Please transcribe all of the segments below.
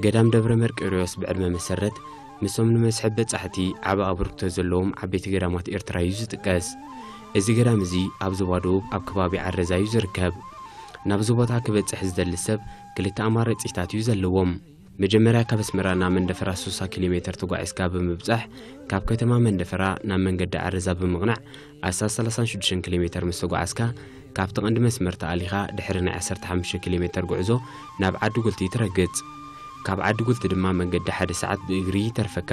ገዳም ደብረ መርቆሬዎስ ብዕድመ መሰረት ምስቶም ንመስሕብ በጻሕቲ ዓቢ ኣበርክቶ ዘለዎም ዓበይቲ ገዳማት ኤርትራ እዩ ዝጥቀስ። እዚ ገዳም እዚ ኣብ ዞባ ደቡብ ኣብ ከባቢ ዓረዛ እዩ ዝርከብ። ናብዚ ቦታ ክበጽሕ ዝደሊ ሰብ ክልተ ኣማራጺታት እዩ ዘለዎም። መጀመርያ ካብ ኣስመራ ናብ መንደፈራ ስሳ ኪሎ ሜተር ተጓዒዝካ ብምብጻሕ፣ ካብ ከተማ መንደፈራ ናብ መንገዲ ዓረዛ ብምቕናዕ ኣስታት ሰላሳን ሽዱሽተን ኪሎ ሜተር ምስ ተጓዓዝካ፣ ካብቲ ቀንዲ መስመር ተኣሊኻ ድሕሪ ናይ ዓሰርተ ሓሙሽተ ኪሎ ሜተር ጉዕዞ ናብ ዓዲ ጉልቲ ትረግጽ። ካብ ዓዲ ጉልቲ ድማ መንገዲ ሓደ ሰዓት ብእግሪ ይተርፈካ።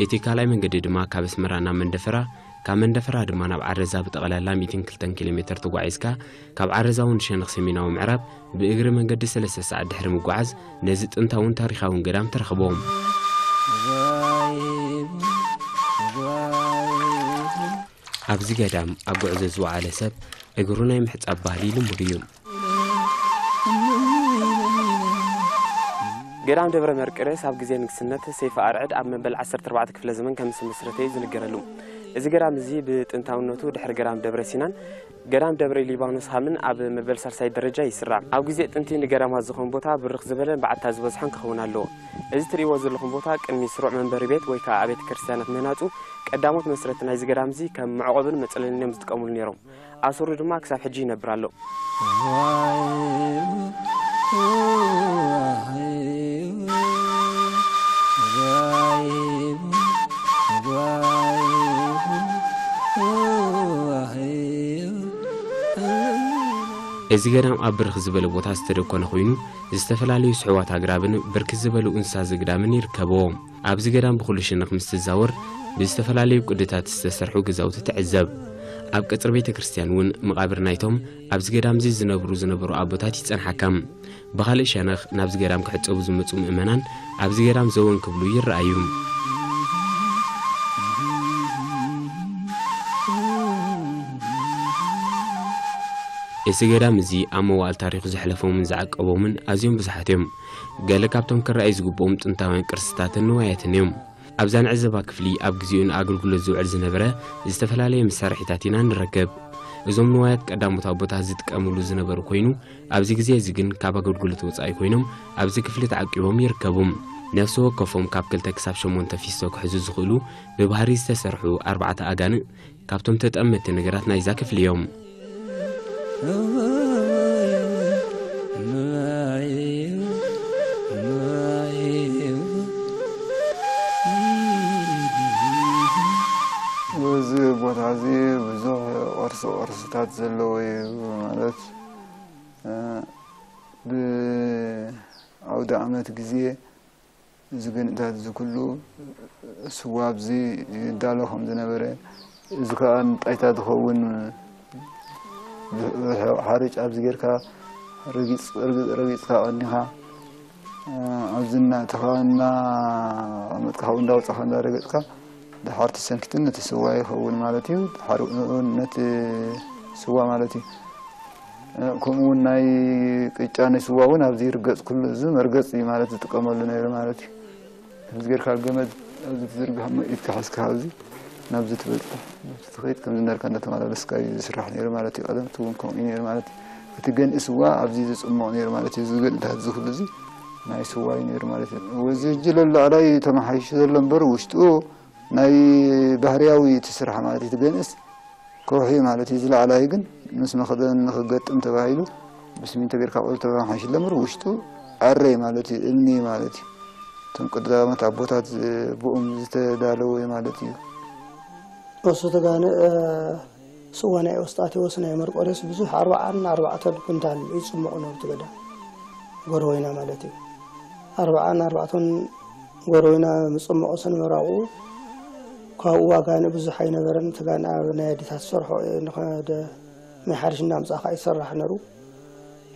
እቲ ካልኣይ መንገዲ ድማ ካብ ኣስመራ ናብ መንደፈራ፣ ካብ መንደፈራ ድማ ናብ ዓረዛ ብጠቕላላ ሚእትን ክልተን ኪሎ ሜተር ተጓዒዝካ፣ ካብ ዓረዛ እውን ሸነኽ ሰሜናዊ ምዕራብ ብእግሪ መንገዲ ሰለስተ ሰዓት ድሕሪ ምጓዓዝ ነዚ ጥንታውን ታሪኻውን ገዳም ትረኽቦ። ኣብዚ ገዳም ኣብ ጉዕዞ ዝወዓለ ሰብ እግሩ ናይ ምሕጻብ ባህሊ ልሙድ እዩ። ገዳም ደብረ መርቆሬዎስ ኣብ ግዜ ንግስነት ሰይፈ ኣርዕድ ኣብ መበል ዓሰርተ ኣርባዕተ ክፍለ ዘመን ከም ዝተመስረተ እዩ ዝንገረሉ። እዚ ገዳም እዚ ብጥንታውነቱ ድሕሪ ገዳም ደብረ ሲናን ገዳም ደብረ ሊባኖስ ሃምን ኣብ መበል ሳልሳይ ደረጃ ይስራዕ። ኣብ ግዜ ጥንቲ ንገዳማት ዝኾን ቦታ ብርኽ ዝበለን በዓታ ዝበዝሖን ክኸውን ኣለዎ። እዚ ትርእይዎ ዘለኹም ቦታ ቅድሚ ስሩዕ መንበሪ ቤት ወይ ከዓ ቤተ ክርስቲያናት ምህናጹ ቀዳሞት መስረቲ ናይዚ ገዳም እዚ ከም መዕቆብን መጽለልን እዮም ዝጥቀምሉ ነይሮም። ኣሰሩ ድማ ክሳብ ሕጂ ይነብር ኣሎ። እዚ ገዳም ኣብ ብርኽ ዝበለ ቦታ ዝተደኮነ ኮይኑ፣ ዝተፈላለዩ ስሑዋት ኣግራብን ብርክት ዝበሉ እንስሳ ዘግዳምን ይርከብዎ። ኣብዚ ገዳም ብኹሉ ሸነኽ ምስ ትዛወር፣ ብዝተፈላለዩ ቅድታት ዝተሰርሑ ገዛውቲ ትዕዘብ። ኣብ ቀጽሪ ቤተ ክርስቲያን እውን መቓብር ናይቶም ኣብዚ ገዳም እዚ ዝነብሩ ዝነበሩ ኣቦታት ይጸንሓካ። ብኻልእ ሸነኽ ናብዚ ገዳም ክሕጸቡ ዝመጹ ምእመናን ኣብዚ ገዳም ዘወን ክብሉ ይረኣዩ። እዚ ገዳም እዚ ኣብ መዋእል ታሪኹ ዘሕለፎምን ዝዓቀቦምን ኣዝዮም ብዙሓት እዮም። ገለ ካብቶም ክረኣዩ ዝግብኦም ጥንታውያን ቅርስታትን ንዋያትን እዮም። ኣብዛ ንዕዘባ ክፍሊ ኣብ ግዜኡ ንኣገልግሎት ዝውዕል ዝነበረ ዝተፈላለየ መሳርሒታት ኢና ንረክብ። እዞም ንዋያት ቀዳሞት ኣቦታት ዝጥቀምሉ ዝነበሩ ኮይኑ፣ ኣብዚ ግዜ እዚ ግን ካብ ኣገልግሎት ወጻኢ ኮይኖም ኣብዚ ክፍሊ ተዓቂቦም ይርከቡ። ነፍሲ ወከፎም ካብ ክልተ ክሳብ ሸሞንተ ፊስቶ ክሕዙ ዝኽእሉ ብባህሪ ዝተሰርሑ ኣርባዕተ ኣጋንእ ካብቶም ተጠመትቲ ነገራት ናይዛ ክፍሊ እዮም። እዚ ቦታ እዚ ብዙሕ ቅርሲ ቅርስታት ዘለዎ እዩ። ማለት፣ እ፣ ብኣውደ ዓመት ግዜ እዚ ገንእታት እዚ ኩሉ ስዋ ኣብዚ ይዳሎ ከም ዝነበረ፣ እዚ ከኣ ንጣይታ ዝኸውን ሓርጭ ኣብዚ ጌርካ ረጊጽ-፣ ረጊጽ-፣ ረጊጽካ ቀኒኻ፣ ኣብዚ እናእተኻ እናቐመጥካ፣ ካብኡ እንዳወጻኻ እንዳረገጽካ፣ ድሓር ትሰንክትን ነቲ ስዋ ይኸውን ማለት እዩ። ድሓር እውን ነቲ ስዋ ማለት እዩ። ከምኡ እውን ናይ ቅጫ፣ ናይ ስዋ እውን ኣብዚ ይርገጽ። ኩሉ እዚ መርገጽ እዩ ማለት ዝጥቀመሉ ነይሩ ማለት እዩ። ከምዚ ጌርካ ገመድ ኣብዚ ትዝርግሕ እሞ ኢድካ ሒዝካ ኣብዚ ናብዚ ትበጽሕ፣ ናብዚ ትኸይድ፣ ከምዚ እንዳልካ እንዳተመላለስካ እዩ ዝስራሕ ነይሩ ማለት እዩ። ቀደም እቲ እውን ከምኡ እዩ ነይሩ ማለት እዩ። እቲ ገንኢ ስዋ ኣብዚ ዝጽሞቕ ነይሩ ማለት እዩ። እዚ ገንእታት እዚ ኩሉ እዚ ናይ ስዋ እዩ ነይሩ ማለት እዩ። እዚ ሕጂ ለላዕላይ ተመሓይሹ ዘሎ እምበር ውሽጡ ናይ ባህርያዊ እቲ ስራሕ ማለት እዩ። እቲ ገንእስ ከውሒ ማለት እዩ። ዝለዓላይ ግን ምስ መኽደን ንኽገጥም ተባሂሉ ብስሚንቶ ጌርካ ቆሎ ተባሂሉ ሓንሽለ እምበር ውሽጡ ኣረይ ማለት እዩ፣ እምኒ ማለት እዩ። እቶም ቀዳሞት ኣቦታት ብኦም ዝተዳለወ ማለት እዩ። እሱ ተጋነ፣ እ፣ ስዋ ናይ ኤዎስጣቴዎስ ናይ መርቆሬዎስ ብዙሕ ኣርብዓን ኣርባዕተን ኩንታል ይጽመቑ ነሩ እቲ ገዳም። ጎረወይና ማለት እዩ። ኣርብዓን ኣርባዕተን ጎረወይና ምጽመቑ ሰንመራቑ ካብኡ ዋጋነ ብዙሕ ኣይነበረን። እቲ ጋነ ኣብ ናይ ኣዴታት ዝሰርሖ ንኸደ ናይ ሓሪሽ እናምጻእካ ይሰራሕ ነሩ።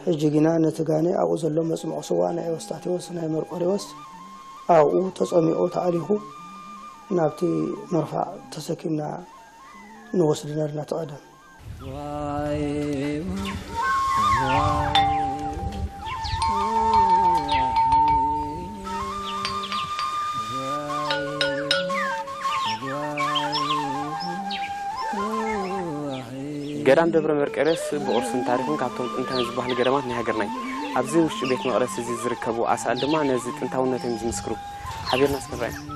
ሕጂ ግና ነቲ ጋነ ኣብኡ ዘሎ መጽመቑ ስዋ ናይ ኤዎስጣቴዎስ ናይ መርቆሬዎስ ኣብኡ ተጸሚቑ ተኣሊኹ ናብቲ መርፋዕ ተሰኪምና ንወስድ ነርና እቲ ቀደም። ገዳም ደብረ መርቆሬዎስ ብቕርስን ታሪኽን ካብቶም ጥንታውያን ዝበሃሉ ገዳማት ናይ ሃገርና እዩ። ኣብዚ ውሽጢ ቤት መቕደስ እዚ ዝርከቡ ኣሳእል ድማ ነዚ ጥንታውነቶም ዝምስክሩ። ሓቢርና እስከ ንርኣዮም።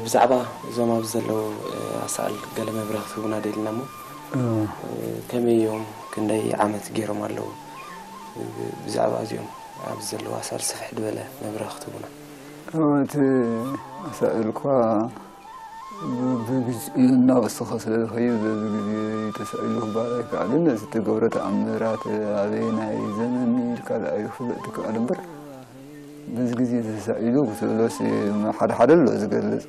ብዛዕባ እዞም ኣብዚ ዘለዉ ኣሳእል ገለ መብርሂ ክትህቡና ደሊና እሞ፣ ከመይ እዮም፣ ክንደይ ዓመት ገይሮም ኣለዉ? ብዛዕባ እዚኦም ኣብዚ ዘለዉ ኣሳእል ስፍሕ ዝበለ መብርሂ ክትህቡና። እቲ ኣሳእል እኳ ብግዜኡ እናወሰኸ ስለ ዝኸይድ፣ በዚ ግዜ ተሳኢሉ ክበሃል ኣይከኣልን። እዚ እተገብረ ተኣምራት ኣበየናይ ዘመን ኢልካ ደኣ እዩ ክፍለጥ ዝከኣል እምበር፣ በዚ ግዜ ተሳኢሉ ክትብሎስ፣ ሓደ ሓደ ኣሎ ዝገልጽ።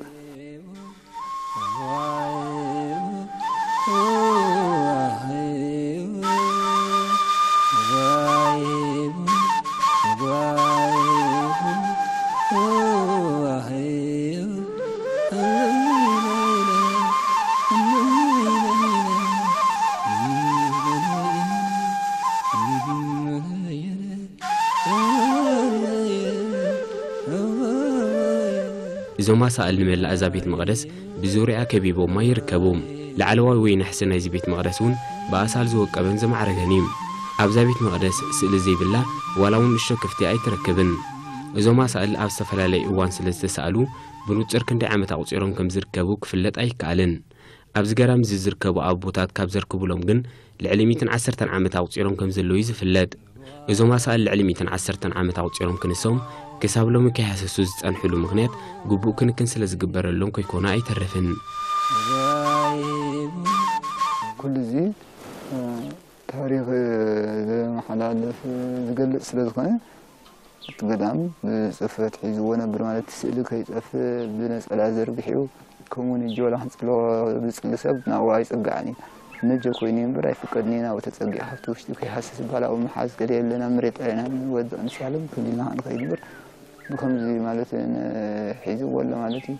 እዞም ኣሳእል ንመላእ እዛ ቤት መቕደስ ብዙርያ ከቢቦማ ይርከቡ። ላዕለዋይ ወይ ናሕሲ ናይዚ ቤት መቕደስ እውን ብኣሳእል ዝወቀበን ዘማዕረገን እዩ። ኣብዛ ቤት መቕደስ ስእሊ ዘይብላ ዋላ እውን ንእሽቶ ክፍቲ ኣይትረክብን። እዞም ኣሳእል ኣብ ዝተፈላለየ እዋን ስለ ዝተሳእሉ ብንጹር ክንደይ ዓመት ኣቑጺሮም ከም ዝርከቡ ክፍለጥ ኣይከኣልን። ኣብዚ ገዳም እዚ ዝርከቡ ኣቦታት ካብ ዘርክቡሎም ግን ልዕሊ ሚእትን ዓሰርተን ዓመት ኣቑጺሮም ከም ዘለዉ እዩ ዝፍለጥ። እዞም ኣሳእል ልዕሊ ሚእትን ዓሰርተን ዓመት ኣቑጺሮም ክንሶም ክሳብ ሎሚ ከይሃሰሱ ዝጸንሕሉ ምኽንያት ግቡእ ክንክን ስለ ዝግበረሎም ከይኮነ ኣይተርፍን። ኩሉ እዚ ታሪኽ ዘመሓላልፍ ዝገልጽ ስለ ዝኾነ፣ እቲ ገዳም ብጽፈት ሒዝዎ ነብር ማለት ስእሊ ከይጠፍእ ብነጸላ ዘርጊሑ፣ ከምኡውን እጂ ዋላ ክንጽሎ ዝጽሊ ሰብ ናብኡ ኣይጽጋዕን እዩ። ነጀ ኮይኑ እዩ እምበር ኣይፍቀድን እዩ ናብኡ ተጸጊዑ ካብቲ ውሽጢ ከይሃስስ ይበሃል። ኣብኡ ምሓዝ ገለ የለን፣ ኣብ መሬት ጥራይ ኢና ንወድቕ ንሳለም ክሊልና ንኸይድ እምበር ብኸምዚ ማለት ን-፣ ሒዝዎ ኣሎ ማለት እዩ።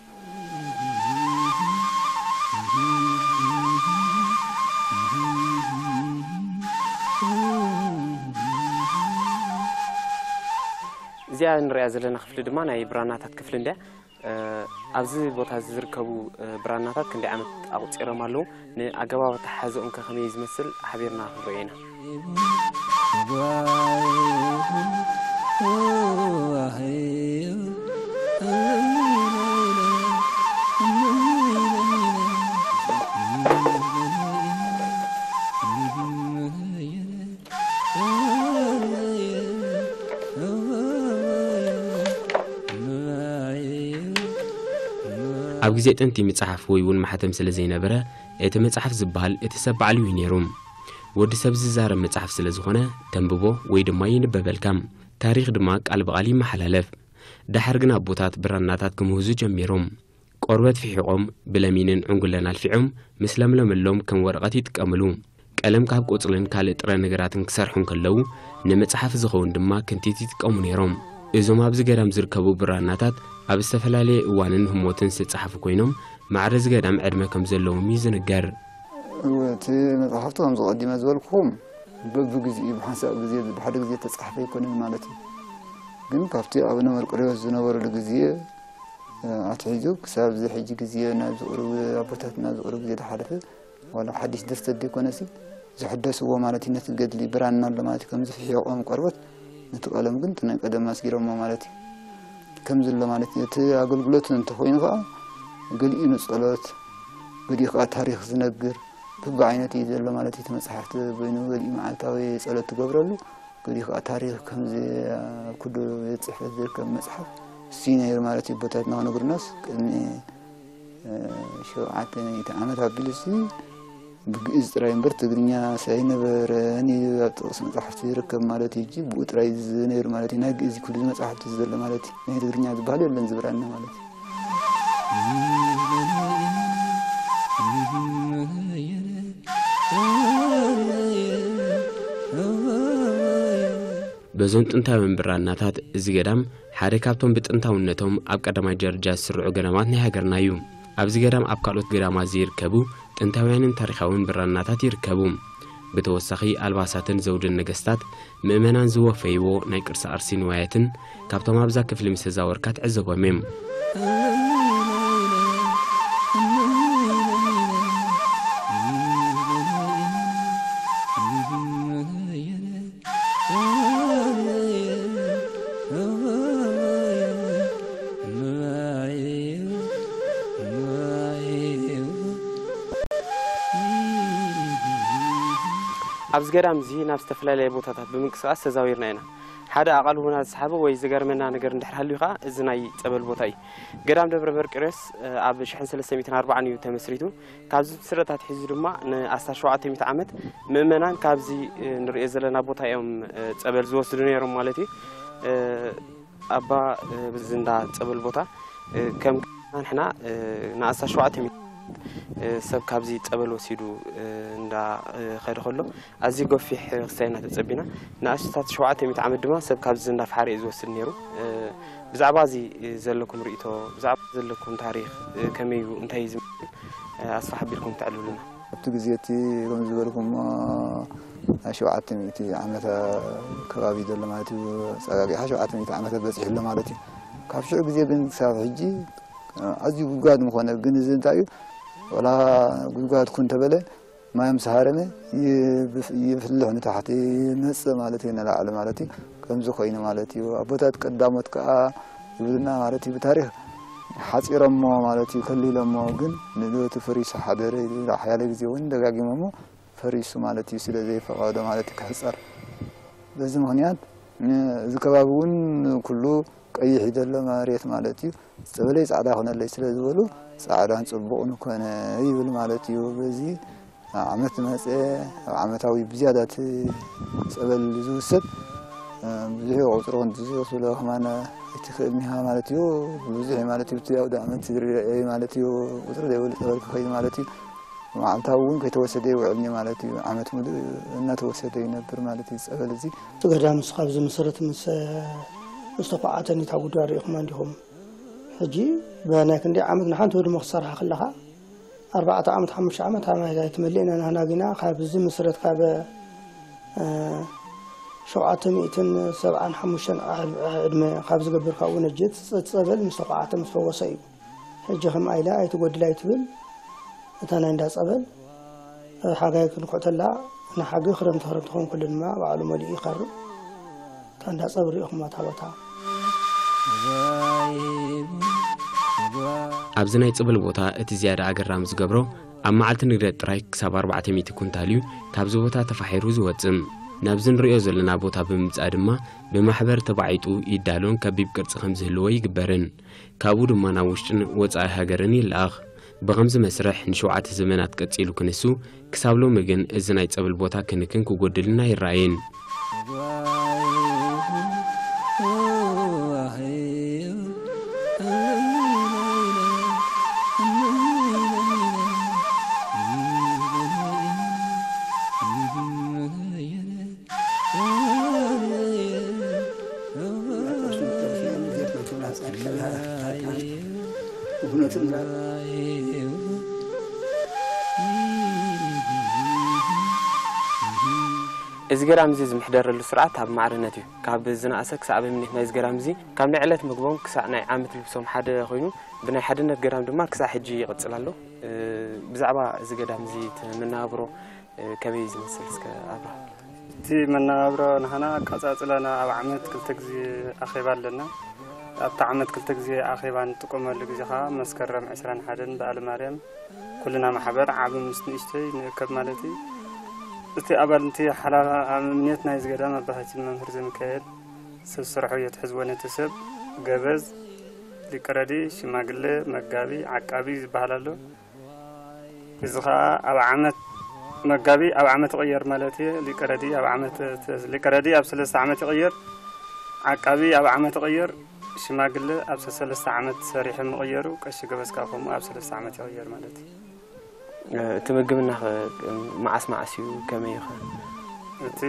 እዚኣ ንሪኣ ዘለና ክፍሊ ድማ ናይ ብራናታት ክፍሊ እንድያ። እ፣ ኣብዚ ቦታ እዚ ዝርከቡ፣ እ፣ ብራናታት ክንደይ ዓመት ኣቑጺሮም ኣለዉ? ንኣገባብ ኣተሓሕዝኦም ከ ከመይ ዝመስል ሓቢርና ክንሪኦ ኢና። ኣብ ግዜ ጥንቲ ምጽሓፍ ወይ እውን ማሕተም ስለ ዘይነበረ፣ እቲ መጽሓፍ ዝበሃል እቲ ሰብ ባዕሉ እዩ ነይሩ። ወዲ ሰብ ዝዛረብ መጽሓፍ ስለ ዝኾነ፣ ተንብቦ ወይ ድማ ይንበበልካ። ታሪኽ ድማ ቃል ብቓል ይመሓላለፍ። ደሓር ግን ኣቦታት ብራናታት ክምህዙ ጀሚሮም። ቆርበት ፍሒቖም፣ ብለሚንን ዕንጉለን ኣልፊዖም፣ ምስ ለምለመሎም ከም ወረቐት ይጥቀምሉ። ቀለም ካብ ቆጽልን ካልእ ጥረ ነገራትን ክሰርሑ እንከለዉ፣ ንመጽሓፍ ዝኸውን ድማ ክንቲት ይጥቀሙ ነይሮም። እዞም ኣብዚ ገዳም ዝርከቡ ብራናታት ኣብ ዝተፈላለየ እዋንን ህሞትን ዝተጻሕፉ ኮይኖም፣ ማዕረ እዚ ገዳም ዕድመ ከም ዘለዎም እዩ ዝንገር። እወ፣ እቲ መጽሓፍቲ ከምዚ ቀዲመ ዝበልኩኹም በብግዜኡ ብሓንሳብ ግዜ፣ ብሓደ ግዜ ተጻሕፈ ኣይኮነን ማለት እዩ። ግን ካብቲ ኣቡነ መርቆሬዎስ ዝነበሩሉ ግዜ ኣትሒዙ ክሳብ እዚ ሕጂ ግዜ ናብዚ ቁሩብ ኣቦታትና ኣብዚ ቁሩብ ግዜ ዝሓለፈ ዋላ ሓድሽ ድርሰት ዘይኮነሲ ዝሕደስዎ ማለት እዩ። ነቲ ገድሊ ብራና ኣሎ ማለት እዩ። ከምዚ ፍሒቖም ቆርበት ነቲ ቀለም ግን እቲ ናይ ቀደም ኣስጊሮሞ ማለት እዩ። ከምዚ ኣሎ ማለት እዩ። እቲ ኣገልግሎት እንተኾይኑ ከዓ ገሊኡ ንጸሎት፣ ገሊኡ ከዓ ታሪኽ ዝነግር በብዓይነቱ እዩ ዘሎ ማለት እዩ። እቲ መጽሓፍቲ በይኑ ገሊኡ መዓልታዊ ጸሎት ትገብረሉ፣ ገሊኡ ከዓ ታሪኽ ከምዚ ኣብ ኩሉ ቤት ጽሕፈት ዝርከብ መጽሓፍ እሱ እዩ ነይሩ ማለት እዩ። ኣቦታትና ክነግሩናስ ቅድሚ እ፣ ሸውዓተ ሚእቲ ዓመት ኣቢሉሲ ብግእዝ ጥራይ እምበር ትግርኛ ሳይነበረን እዩ ኣብ ጥቕሲ መጻሕፍቲ ዝርከብ ማለት እዩ። ሕጂ ብኡ ጥራይ ዝነይሩ ማለት እዩ። ናይ ግእዝ ኩሉ መጻሕፍቲ ዘሎ ማለት እዩ። ናይ ትግርኛ ዝበሃል የለን ዝብራና ማለት እዩ። በዞም ጥንታውያን ብራናታት እዚ ገዳም ሓደ ካብቶም ብጥንታውነቶም ኣብ ቀዳማይ ደረጃ ዝስርዑ ገዳማት ናይ ሃገርና እዩ። ኣብዚ ገዳም ኣብ ካልኦት ገዳማት ዘይርከቡ ጥንታውያንን ታሪኻውን ብራናታት ይርከቡ። ብተወሳኺ ኣልባሳትን ዘውድን ነገስታት ምእመናን ዝወፈይዎ ናይ ቅርሲ ኣርሲ ንዋያትን ካብቶም ኣብዛ ክፍሊ ምስ ተዛወርካ ትዕዘቦም እዮም። ኣብዚ ገዳም እዚ ናብ ዝተፈላለየ ቦታታት ብምንቅስቓስ ተዛዊርና ኢና። ሓደ ኣቓልቦና ዝሰሓበ ወይ ዝገርመና ነገር እንድሕር ሃልዩ ኸዓ እዚ ናይ ጸበል ቦታ እዩ። ገዳም ደብረ መርቆሬዎስ፣ እ፣ ኣብ ሽሕን ሰለስተ ሚእትን ኣርባዓን እዩ ተመስሪቱ። ካብዚ ምስረታ ኣትሒዙ ድማ ንኣስታት ሸውዓተ ሚእቲ ዓመት ምእመናን ካብዚ፣ እ፣ ንርእዮ ዘለና ቦታ እዮም፣ እ፣ ጸበል ዝወስዱ ነይሮም ማለት እዩ። እ፣ ኣባ፣ እ፣ እዚ እንዳ ጸበል ቦታ፣ እ፣ ከም ንሕና፣ እ፣ ንኣስታት ሸውዓተ ሚእቲ፣ እ፣ ሰብ ካብዚ ጸበል ወሲዱ፣ እ፣ እንዳ፣ እ፣ ኸደ ከሎ፣ ኣዝዩ ገፊሕ ክስታይ ኢና ተጸቢና። ንኣስታት ሸውዓተ ሚእቲ ዓመት ድማ ሰብ ካብዚ እንዳፈሓረ እዩ ዝወስድ ነይሩ። እ፣ ብዛዕባ እዚ፣ እ፣ ዘለኩም ርእይቶ፣ ብዛዕባ ዘለኩም ታሪኽ፣ እ፣ ከመይ እዩ፣ እንታይ እዩ ዝመስል፣ እ፣ ኣስፋሕ ኣቢልኩም ተዕልሉና። ኣብቲ ግዜ እቲ ከም ዝበልኩሞ፣ ናይ ሸውዓተ ሚእቲ ዓመት ከባቢ ዘሎ ማለት እዩ። ጸጋጊሓ ሸውዓተ ሚእቲ ዓመት በጺሑ ኣሎ ማለት እዩ። ካብ ሽዑ ግዜ ግን ክሳብ ሕጂ ኣዝዩ ጉድጓድ ምኾነ። ግን እዚ እንታይ እዩ፣ ወላ ጉድጓድ ኩን ተበለ፣ ማይ ምስ ሃረመ ይብፍ-፣ ይፍልሕ ንታሕቲ፣ ይመጽእ ማለት እዩ፣ ንላዕሊ ማለት እዩ። ከምዚ ኮይኑ ማለት እዩ። ኣቦታት ቀዳሞት ከኣ ይብሉና ማለት እዩ፣ ብታሪኽ ሓጺሮሞ ማለት እዩ፣ ከሊሎሞ። ግን ንእለቱ ፈሪሱ ሓደረ ኢሉ ሓያለ ግዜ እውን ደጋጊሞሞ፣ ፈሪሱ ማለት እዩ፣ ስለ ዘይፈቐዶ ማለት እዩ ክሕጸር። በዚ ምኽንያት ን-፣ እዚ ከባቢ እውን ኩሉ ቀይሕ እዩ ዘሎ መሬት ማለት እዩ። ጸበለይ ጻዕዳ ኮነለይ ስለ ዝበሉ፣ ጻዕዳን ጽቡቕን ኮነ ይብል ማለት እዩ። በዚ ዓመት መጸ፣ ኣብ ዓመታዊ ብዝያዳ እቲ ጸበል ዝውሰድ፣ እ፣ ብዙሕ ቁጽሪ ክንዲ ዝወስዶ ከማን ኣይትኽእልን ኢኻ ማለት እዩ። ብዙሕ እዩ ማለት እዩ። እቲ ኣውደ ዓመት ዝርአ ማለት እዩ። ቁጽሪ ዘይብሉ ጸበል ክኸይድ ማለት እዩ። መዓልታዊ እውን ከይተወሰደ ይውዕል እዩ ማለት እዩ። ዓመት ሙሉእ እናተወሰደ ይነብር ማለት እዩ ጸበል እዚ። እቲ ገዳም ምስ ካብ ዝምስርት ምስ፣ ምስ ተኳዓተን እታ ጉዳይ ርኢኹማ እንዲኹም። ሕጂ ብናይ ክንደይ ዓመት ንሓንቲ ህድሞ ክትሰርሓ ከለኻ፣ ኣርባዕተ ዓመት፣ ሓሙሽተ ዓመት ኣብ ማይ ኣይትመልእን ኢና ንሕና ግና ካብ ዝምስረት ካብ፣ እ፣ ሸውዓተ ሚእትን ሰብዓን ሓሙሽተን ዓ-፣ ዕድመ ካብ ዝገብር ካብኡ ነጀት ጸ-፣ ጸበል ምስ ተኳዓተ ምስ ፈወሰ እዩ። ሕጂ ከምኣ ኢላ ኣይትጎድል ኣይትብል። እታ ናይ እንዳ ጸበል፣ እ፣ ሓጋይ ክንኩዕተላ ንሓጊ ክረምቲ ክረምቲ ክኸውን ከሎ ድማ ባዕሉ መሊኡ ይኸርብ። እታ እንዳ ጸበል ርኢኹማ እታ ቦታ። ኣብዚ ናይ ጸበል ቦታ እቲ ዝያዳ ኣገራሚ ዝገብሮ፣ ኣብ መዓልቲ ንግደት ጥራይ ክሳብ ኣርባዕተ ሚእቲ ኩንታል እዩ ካብዚ ቦታ ተፋሒሩ ዝወጽእ። ናብዚ ንርእዮ ዘለና ቦታ ብምምጻእ ድማ ብማሕበር ተባዒጡ ይዳሎን ከቢብ ቅርጺ ከም ዝህልዎ ይግበርን። ካብኡ ድማ ናብ ውሽጥን ወጻኢ ሃገርን ይለኣኽ። ብኸምዚ መስርሕ ንሸውዓተ ዘመናት ቀጺሉ ክንሱ፣ ክሳብ ሎሚ ግን እዚ ናይ ጸበል ቦታ ክንክን ክጎድልን ኣይረኣይን። እዚ ገዳም እዚ ዝምሕደረሉ ስርዓት ኣብ ማዕርነት እዩ። ካብ ዝነኣሰ ክሳብ ኣብነት ናይዚ ገዳም እዚ፣ ካብ ናይ ዕለት ምግቦም ክሳዕ ናይ ዓመት ልብሶም ሓደ ኮይኑ፣ ብናይ ሓድነት ገዳም ድማ ክሳዕ ሕጂ ይቕጽል ኣሎ። እ፣ ብዛዕባ እዚ ገዳም እዚ እቲ መነባብሮ፣ እ፣ ከመይ እዩ ዝመስል? እስከ ኣብርሃ። እቲ መነባብሮ ንሃና ኣቀጻጽላና ኣብ ዓመት ክልተ ግዜ ኣኼባ ኣለና። ኣብቲ ዓመት ክልተ ግዜ ኣኼባ እንጥቀመሉ ግዜ ኸዓ መስከረም ዕስራን ሓደን በዓለ ማርያም ኩልና ማሕበር ዓቢ ምስ ንእሽተይ ንእከብ ማለት እዩ። እቲ ኣባል እቲ ሓላፊ ኣብ እምነት ናይዚ ገዳም ኣባታችን መምህር ዘሚካኤል ሰብ ስርሑ እዮ ትሕዝዎ ነቲ ሰብ ገበዝ፣ ሊቀ ረድኢ፣ ሽማግለ፣ መጋቢ፣ ዓቃቢ ዝበሃል ኣሎ። እዚ ኸዓ ኣብ ዓመት መጋቢ ኣብ ዓመት ይቕየር ማለት እዩ። ሊቀ ረድኢ ኣብ ዓመት፣ ሊቀ ረድኢ ኣብ ሰለስተ ዓመት ይቕየር። ዓቃቢ ኣብ ዓመት ይቕየር። ሽማግለ ኣብ ሰለስተ ዓመት ሰሪሑ ምቕየሩ፣ ቀሺ ገበዝ ከኣ ከምኡ ኣብ ሰለስተ ዓመት ይቕየር ማለት እዩ። እቲ ምግብና ኸ መዓስ መዓስ እዩ? ከመይ እዩ ኸ? እቲ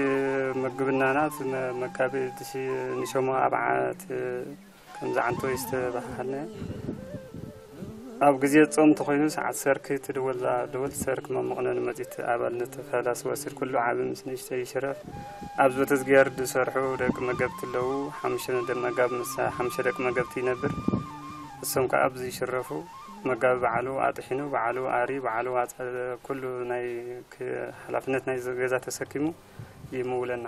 ምግብናና እቲ መ-፣ መጋቢ ድሲ ንሸሞ ኣብ ዓመት ከምዚ ዓንቶ ይስተባሃልና። ኣብ ግዜ ጾም እንተኾይኑ ሰዓት ሰርክ ትድወል፣ እዛ ደወል ሰርክ መመቕነኒ መጺት ኣባልነት ፈላሲ ወሲድ ኩሉ ዓቢ ምስ ንእሽተይ ይሽረፍ። ኣብ በተዝጊያር ዝሰርሑ ደቂ መገብቲ ኣለዉ። ሓሙሽተ መጋብ ምስ ሓሙሽተ ደቂ መገብቲ ይነብር። እሶም ከኣ ኣብዚ ይሽረፉ። መጋቢ ባዕሉ ኣጥሒኑ፣ ባዕሉ ኣሪ፣ ባዕሉ ኣጸ-፣ ኩሉ ናይ ክ-፣ ሓላፍነት ናይ ገዛ ተሰኪሙ ይምውለና።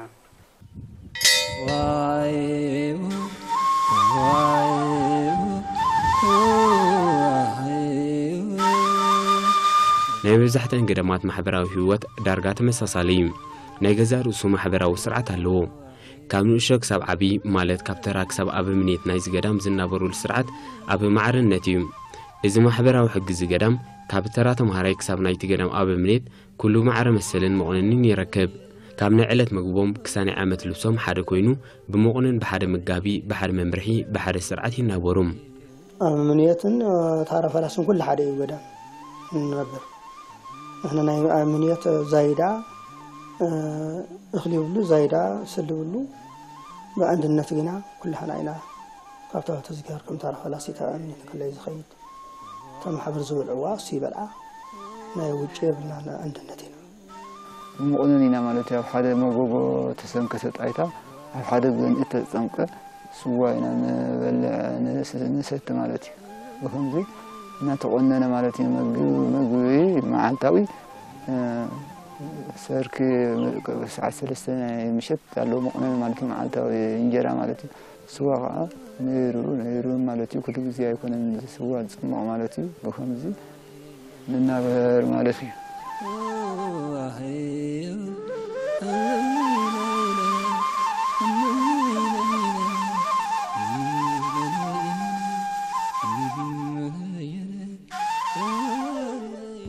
ናይ መብዛሕትአን ገዳማት ማሕበራዊ ህይወት ዳርጋ ተመሳሳሊ እዩ። ናይ ገዛእ ርእሱ ማሕበራዊ ስርዓት ኣለዎ። ካብ ንእሽቶ ክሳብ ዓቢ፣ ማለት ካብ ተራ ክሳብ ኣበምኔት ናይዚ ገዳም ዝናበሩሉ ስርዓት ኣብ ማዕርነት እዩ። እዚ ማሕበራዊ ሕጊ እዚ ገዳም ካብ ተራ ተምሃራይ ክሳብ ናይቲ ገዳም ኣበምኔት ኩሉ ማዕረ መሰልን መቑነንን ይረክብ። ካብ ናይ ዕለት መግቦም ክሳብ ናይ ዓመት ልብሶም ሓደ ኮይኑ፣ ብመቑነን ብሓደ መጋቢ፣ ብሓደ መምርሒ፣ ብሓደ ስርዓት ይናበሩ። ኣብ ምንየትን ታራ ፈላስን ኩሉ ሓደ እዩ ገዳም እንነብር። ንሕና ናይ ኣብ ምንየት ዛይዳ እኽሊ ይብሉ፣ ዛይዳ ስሊ ይብሉ። ብኣንድነት ግና ኩላህና ኢና ካብታ ተዝጊሃር ከም ታራ ፈላሲ ተኣሚን ከለይ ዝኸይድ። እታ ማሕበር ዝበልዕዋ እሱ ይበልዓ። ናይ ውጭ የብልና፣ ናይ ኣንድነት ኢና። ንመቑነን ኢና ማለት እዩ። ኣብ ሓደ መጎጎ ተሰንከተ ጣይታ፣ ኣብ ሓደ ግን እተጸምቀ ስዋ ኢና ንበልዕ፣ ንስ-፣ ንሰቲ ማለት እዩ። ብኸምዚ እናተቖነነ ማለት እዩ። መግ-፣ መግቢ መዓልታዊ፣ እ፣ ሰርክ ሰዓት ሰለስተ ናይ ምሸት ኣለዎ መቑነን ማለት እዩ። መዓልታዊ እንጀራ ማለት እዩ። ስዋ ኸዓ ነይሩ፣ ነይሩ ማለት እዩ። ኩሉ ግዜ ኣይኮነን ስዋ ዝጽሞቕ ማለት እዩ። ብኸምዚ ንናበር ማለት እዩ።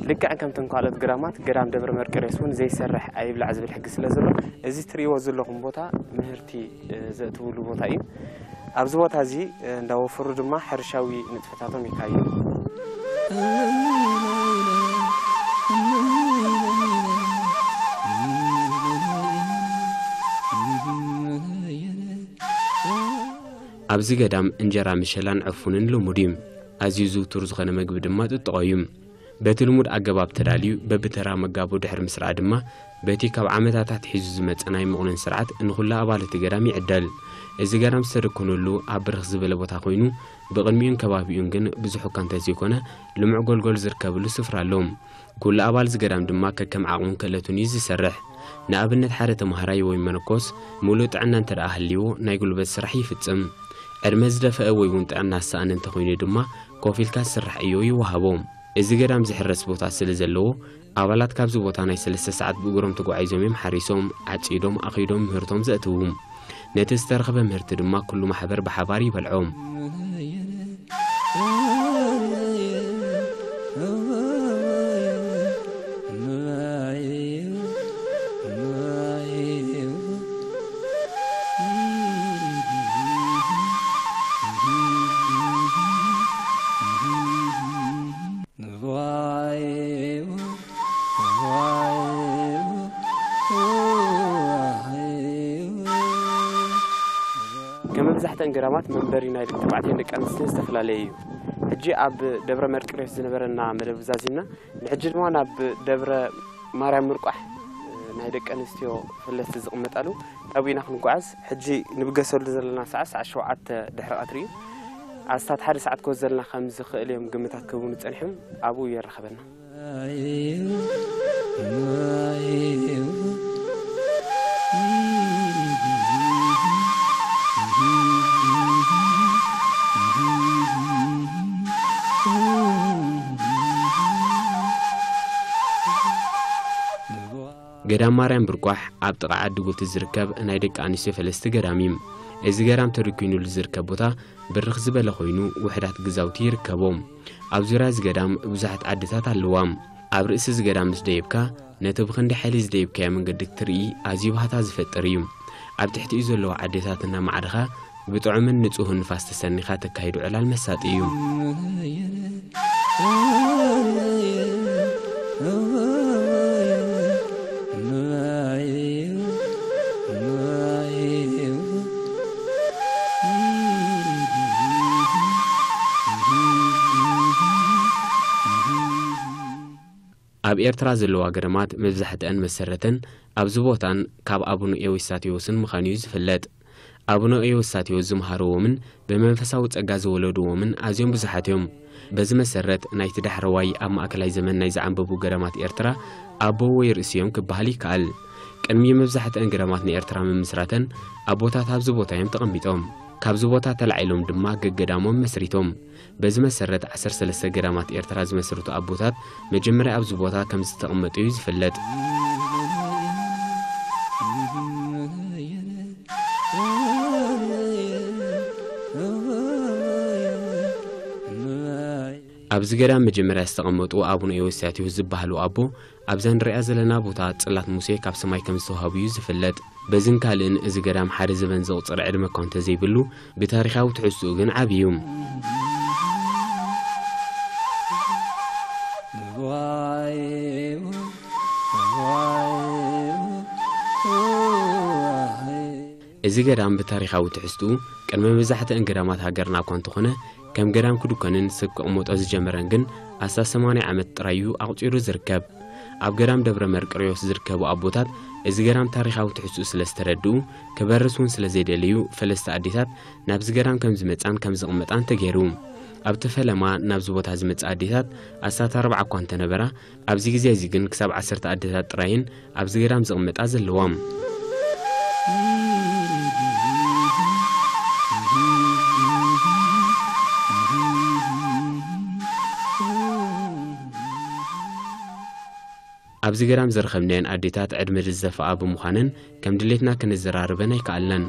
ልክዕ ከምተን ካልኦት ገዳማት፣ ገዳም ደብረ መርቆሬዎስ እውን ዘይሰርሕ ኣይብላዕ ዝብል ሕጊ ስለ ዘሎ፣ እዚ ትርእይዎ ዘለኹም ቦታ ምህርቲ፣ እ፣ ዘእትውሉ ቦታ እዩ። ኣብዚ ቦታ እዚ፣ እ፣ እንዳወፈሩ ድማ ሕርሻዊ ንጥፈታቶም የካይዱ። ኣብዚ ገዳም እንጀራ ምሸላን ዕፉንን ልሙድ እዩ። ኣዝዩ ዝውቱር ዝኾነ መግቢ ድማ ጥጥቖ እዩ። በቲ ልሙድ ኣገባብ ተዳልዩ፣ በብተራ መጋቡ ድሕሪ ምስራዕ ድማ፣ በቲ ካብ ዓመታት ኣትሒዙ ዝመጸ ናይ መቑነን ስርዓት ንኹሉ ኣባል እቲ ገዳም ይዕደል። እዚ ገዳም ዝተደኮነሉ ኣብ ብርኽ ዝበለ ቦታ ኮይኑ፣ ብቕድሚኡን ከባቢኡን ግን ብዙሕ እኳ እንተዘይኮነ፣ ልሙዕ ጎልጎል ዝርከብሉ ስፍራ ኣሎ። ኩሉ ኣባል እዚ ገዳም ድማ ከከም ዓቕሙን ክእለቱን እዩ ዝሰርሕ። ንኣብነት፣ ሓደ ተምሃራይ ወይ መነኮስ፣ ምሉእ ጥዕና እንተ ደኣ ሃልይዎ፣ ናይ ጉልበት ስራሕ ይፍጽም። ዕድመ ዝደፈአ ወይ እውን ጥዕና ዝሰኣነ እንተኾይኑ ድማ፣ ኮፍ ኢልካ ዝስራሕ ዕዮ ይወሃቦ። እዚ ገዳም ዝሕረስ ቦታ ስለ ዘለዎ፣ ኣባላት ካብዚ ቦታ ናይ ሰለስተ ሰዓት ብእግሮም ተጓዒዞም እዮም ሓሪሶም፣ ዓጺዶም፣ ኣኺዶም ምህርቶም ዘእትዉ። ነቲ ዝተረኽበ ምህርቲ ድማ ኩሉ ማሕበር ብሓባር ይበልዖ። ከም መብዛሕትአን ገዳማት መንበሪ ናይ ደቂ ተባዕትዮን ደቂ ኣንስትዮን ዝተፈላለየ እዩ። ሕጂ ኣብ ደብረ መርቆሬዎስ ዝነበረና መደብ ዛዚምና፣ ንሕጂ ድማ ናብ ደብረ ማርያም ምርቋሕ ናይ ደቂ ኣንስትዮ ፈለስቲ ዝቕመጣሉ ኣብኡ ኢና ክንጓዓዝ። ሕጂ ንብገሰሉ ዘለና ሰዓት፣ ሰዓት ሸውዓተ ድሕሪ ቀትሪ እዩ። ኣስታት ሓደ ሰዓት ክወስደልና ከም ዝኽእል እዮም ግምታት ክህቡኒ ጸኒሖም። ኣብኡ የራኽበና። ገዳም ማርያም ብርቋሕ ኣብ ጥቓ ዓዲ ጉልቲ ዝርከብ ናይ ደቂ ኣንስትዮ ፈለስቲ ገዳም እዩ። እዚ ገዳም ተደኪኑሉ ዝርከብ ቦታ ብርኽ ዝበለ ኮይኑ፣ ውሑዳት ገዛውቲ ይርከቦም። ኣብ ዙርያ እዚ ገዳም ብዙሓት ዓድታት ኣለዋ። ኣብ ርእሲ እዚ ገዳም ምስ ደየብካ፣ ነቲ ብኽንዲ ሓይሊ ዝደየብካዮ መንገዲ ክትርኢ ኣዝዩ ባህታ ዝፈጥር እዩ። ኣብ ትሕቲኡ ዘለዉ ዓድታት እናማዕድኻ፣ ብጥዑምን ንጹህን ንፋስ ተሰኒኻ ተካይዶ ዕላል መሳጢ እዩ። ብኤርትራ ዘለዋ ገዳማት መብዛሕትአን መሰረተን ኣብዚ ቦታን ካብ ኣቡነ ኤዎስጣቴዎስን ምዃኑ እዩ ዝፍለጥ። ኣቡነ ኤዎስጣቴዎስ ዝመሃርዎምን ብመንፈሳዊ ጸጋ ዝወለድዎምን ኣዝዮም ብዙሓት እዮም። በዚ መሰረት ናይቲ ዳሕረዋይ ኣብ ማእከላይ ዘመን ናይ ዝዓንበቡ ገዳማት ኤርትራ ኣቦ ወይ ርእሲ እዮም ክበሃል ይከኣል። ቅድሚ መብዛሕትአን ገዳማት ንኤርትራ ምምስራተን ኣቦታት ኣብዚ ቦታ እዮም ተቐሚጦም። ካብዚ ቦታ ተላዒሎም ድማ ገገዳሞም መስሪቶም። በዚ መሰረት ዓሰርተ ሰለስተ ገዳማት ኤርትራ ዝመስርቱ ኣቦታት መጀመርያ ኣብዚ ቦታ ከም ዝተቐመጡ እዩ ዝፍለጥ። ኣብዚ ገዳም መጀመርያ ዝተቐመጡ ኣቡነ ኤዎስጣቴዎስ ዝበሃሉ ኣቦ ኣብዛ ንሪኣ ዘለና ቦታ ጽላት ሙሴ ካብ ሰማይ ከም ዝተዋህቡ እዩ ዝፍለጥ። በዝን ካልእን እዚ ገዳም ሓደ ዘበን ዘቑጽር ዕድመ እኳ እንተዘይብሉ፣ ብታሪኻዊ ትሕዝትኡ ግን ዓቢ እዩ። እዚ ገዳም ብታሪኻዊ ትሕዝትኡ ቅድሚ መብዛሕትአን ገዳማት ሃገርና እኳ እንተኾነ፣ ከም ገዳም ክድኮንን ሰብ ክቕመጦ ዝጀመረን ግን ኣስታት ሰማንያ ዓመት ጥራይ እዩ ኣቑጺሩ ዝርከብ። ኣብ ገዳም ደብረ መርቆሬዎስ ዝርከቡ ኣቦታት እዚ ገዳም ታሪኻዊ ትሕዝትኡ ስለ ዝተረድኡ፣ ክበርስ እውን ስለ ዘይደለዩ፣ ፈለስቲ ኣዴታት ናብዚ ገዳም ከም ዝመጻን ከም ዝቕመጣን ተገይሩ። ኣብቲ ፈለማ ናብዚ ቦታ ዝመጻ ኣዴታት ኣስታት ኣርባዓ እኳ እንተነበራ፣ ኣብዚ ግዜ እዚ ግን ክሳብ ዓሰርተ ኣዴታት ጥራይን ኣብዚ ገዳም ዝቕመጣ ዘለዋ። ኣብዚ ገዳም ዝረኸብናየን ኣዴታት ዕድመ ዝደፍኣ ብምዃነን ከም ድሌትና ክንዘራረበን ኣይከኣልናን።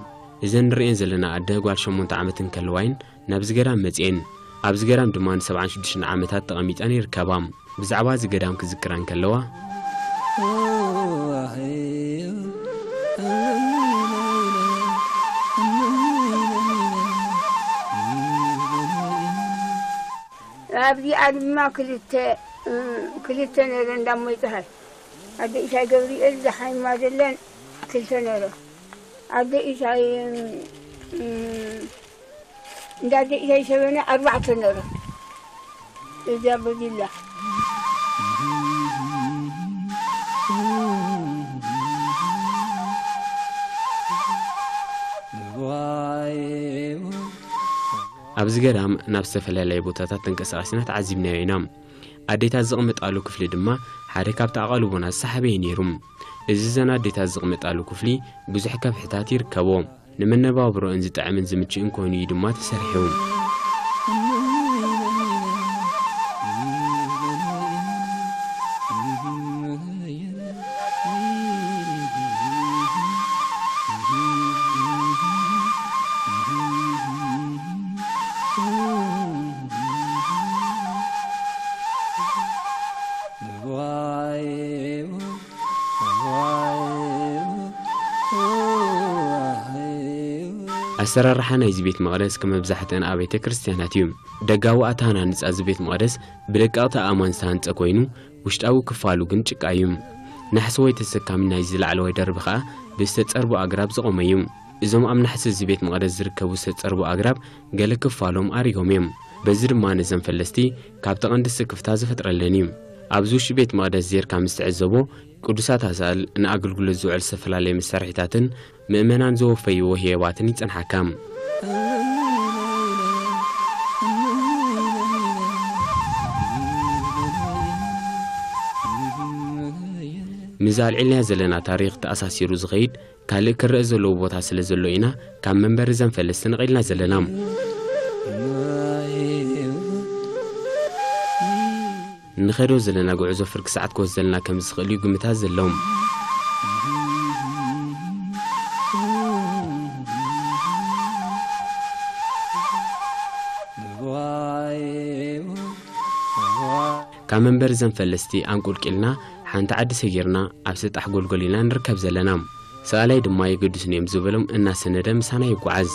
እዘን ንርእየን ዘለና ኣደ ጓል ሸሞንተ ዓመት እንከለዋይን ናብዚ ገዳም መጺኤን። ኣብዚ ገዳም ድማ ንሰብዓን ሽዱሽተን ዓመታት ተቐሚጠን ይርከባ። ብዛዕባ እዚ ገዳም ክዝክራ እንከለዋ፣ ኣብዚኣ ድማ ክልተ፣ ክልተ ነረ እንዳሞ ይጽሃል። ኣደ ኢሻይ ገብርኤል ዝሓይማ ዘለን ክልተ ነረ። ኣደ ኢሻይ፣ እንዳ ኣደ ኢሻይ ሸበነ ኣርባዕተ ነረ። እዚኣ በዚላ። ኣብዚ ገዳም ናብ ዝተፈላለየ ቦታታት ተንቀሳቒስና ተዓዚብናዮ ኢና። ኣዴታት ዝቕመጣሉ ክፍሊ ድማ ሓደ ካብቲ ኣቓልቦና ዝሰሓበ እዩ ነይሩ። እዚ እዘን ኣዴታት ዝቕመጣሉ ክፍሊ ብዙሕ ከፍሕታት ይርከቦ። ንመነባብሮአን ዝጥዕምን ዝምችእን ኮይኑ እዩ ድማ ተሰሪሑ። ኣሰራርሓ ናይዚ ቤት መቕደስ ከም መብዛሕትአን ኣብያተ ክርስቲያናት እዩ። ደጋዊ ኣተሃናንጻ እዚ ቤት መቕደስ ብደቀቕቲ ኣእማን ዝተሃንጸ ኮይኑ፣ ውሽጣዊ ክፋሉ ግን ጭቃ እዩ። ናሕሲ ወይ ተሰካሚ ናይዚ ላዕለዋይ ደርቢ ኸኣ ብዝተጸርቡ ኣግራብ ዝቖመ እዩ። እዞም ኣብ ናሕሲ እዚ ቤት መቕደስ ዝርከቡ ዝተጸርቡ ኣግራብ ገለ ክፋሎም ኣሪጎም እዮም። በዚ ድማ ነዘን ፈለስቲ ካብቲ ቀንዲ ስክፍታ ዝፈጥረለን እዩ። ኣብዚ ውሽጢ ቤት መቕደስ ዜርካ ምስ ትዕዘቦ፣ ቅዱሳት ኣሳእል፣ ንኣገልግሎት ዝውዕል ዝተፈላለየ መሳርሒታትን ምእመናን ዘወፈይዎ ህየባትን ይጸንሓካ። ምስዚ ኣልዒልናዮ ዘለና ታሪኽ ተኣሳሲሩ ዝኸይድ ካልእ ክረኣ ዘለዎ ቦታ ስለ ዘሎ ኢና ካብ መንበሪ ዘን ፈለስቲ ነቒልና ዘለና። ንኸዶ ዘለና ጉዕዞ ፍርቂ ሰዓት ክወስደልና ከም ዝኽእል እዩ ግምታት ዘለዎም። ካብ መንበሪ ዘን ፈለስቲ ኣንቁልቂልና ሓንቲ ዓዲ ሰጊርና ኣብ ሰጣሕ ጎልጎል ኢና ንርከብ ዘለና። ሰኣላይ ድማ የገድሱኒ እዮም ዝበሎም እናሰነደ ምሳና ይጓዓዝ።